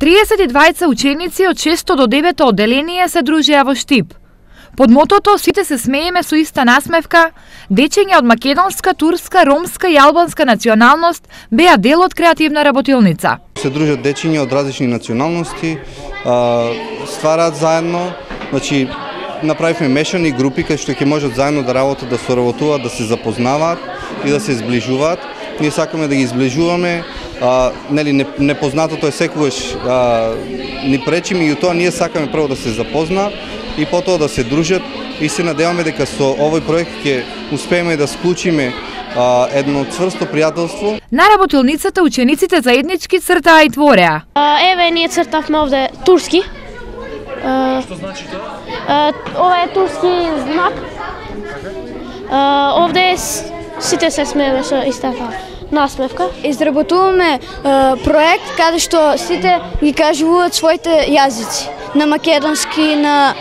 32 ученици од 6 до 9 одделение се дружеа во Штип. Под мотото "Сите се смееме со иста насмевка", дечиња од македонска, турска, ромска и албанска националност беа дел од креативна работилница. Се дружат дечиња од различни националности, ствараат заедно, значи направивме мешани групи кај што ќе можат заедно да работат, да соработуваат, да се запознаваат и да се зближуваат. Ние сакаме да ги зближуваме, нели непознатото е секогаш ни пречи, меѓутоа ние сакаме прво да се запознаат и потоа да се дружат и се надеваме дека со овој проект ќе успееме да склучиме едно цврсто пријателство. На работилницата учениците заеднички цртаа и твореа. Еве ние цртавме овде турски. Што значи тоа? Ова е турски знак. Овде сите се смееме со истата насмевка. Изработуваме проект каде што сите ги кажуваат своите јазици, на македонски, на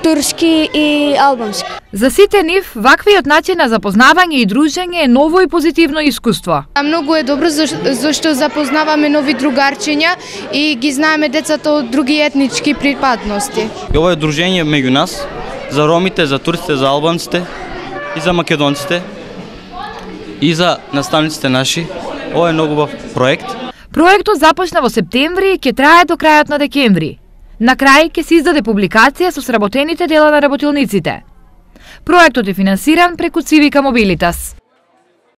турски и албански. За сите нив, ваквиот начин на запознавање и дружење е ново и позитивно искуство. Многу е добро зашто запознаваме нови другарчиња и ги знаеме децата од други етнички припадности. Ова е дружење меѓу нас, за ромите, за турците, за албанците и за македонците и за наставниците наши. Ова е многу убав проект. Проектот започна во септември и ќе трае до крајот на декември. На крај ќе се издаде публикација со сработените дела на работилниците. Проектот е финансиран преку Civica Mobilitas.